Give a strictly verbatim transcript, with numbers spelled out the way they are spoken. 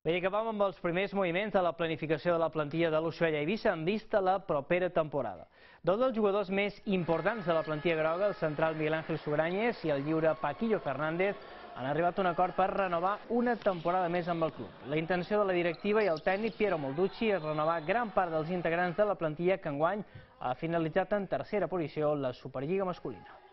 Bé, acabem amb els primers moviments de la planificació de la plantilla de l'Ushuaia Eivissa en vista a la propera temporada. Dos dels jugadors més importants de la plantilla groga, el central Miguel Ángel Sugrañes i el lliure Paquillo Fernández, han arribat a un acord per renovar una temporada més amb el club. La intenció de la directiva i el tècnic Piero Molducci és renovar gran part dels integrants de la plantilla que enguany ha finalitzat en tercera posició la Superliga masculina.